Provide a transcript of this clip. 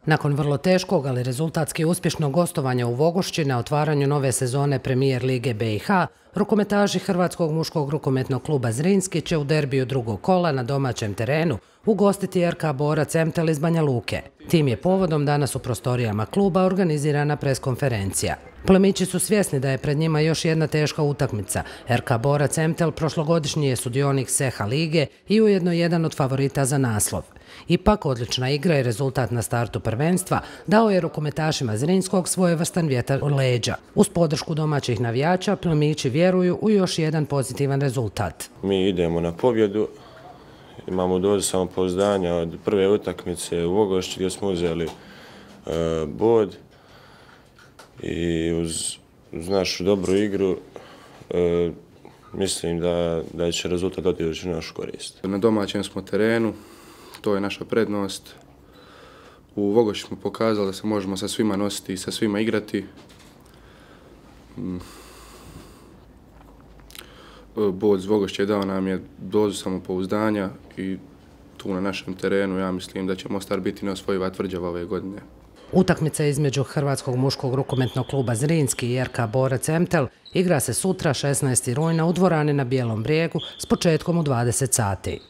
Nakon vrlo teškog, ali rezultatski uspješnog gostovanja u Vogošći na otvaranju nove sezone Premijer lige BiH, rukometaši Hrvatskog muškog rukometnog kluba Zrinski će u derbiju drugog kola na domaćem terenu ugostiti RK Borac Emtel iz Banja Luke. Tim je povodom danas u prostorijama kluba organizirana preskonferencija. Plemići su svjesni da je pred njima još jedna teška utakmica. RK Borac Emtel prošlogodišnji je sudionik SEHA lige i ujedno jedan od favorita za naslov. Ipak, odlična igra i rezultat na startu prvenstva dao je rukometašima Zrinskog svojevrstan vjetar u leđa. Uz podršku domaćih navijača, plemići vjeruju u još jedan pozitivan rezultat. Mi idemo na pobjedu, imamo dozu samopouzdanja od prve utakmice u Vogošći gdje smo uzeli bod i uz našu dobru igru mislim da će rezultat otići u našu korist. Na domaćem smo terenu, to je naša prednost. U Vogošći smo pokazali da se možemo sa svima nositi i sa svima igrati. Bod iz Vogošće dao nam je dozu samopouzdanja i tu na našem terenu ja mislim da će Mostar biti neosvojiva tvrđava ove godine. Utakmica između Hrvatskog muškog rukometnog kluba Zrinski i RK Borac Emtel igra se sutra 16. rujna u dvorani na Bijelom brijegu s početkom u 20 sati.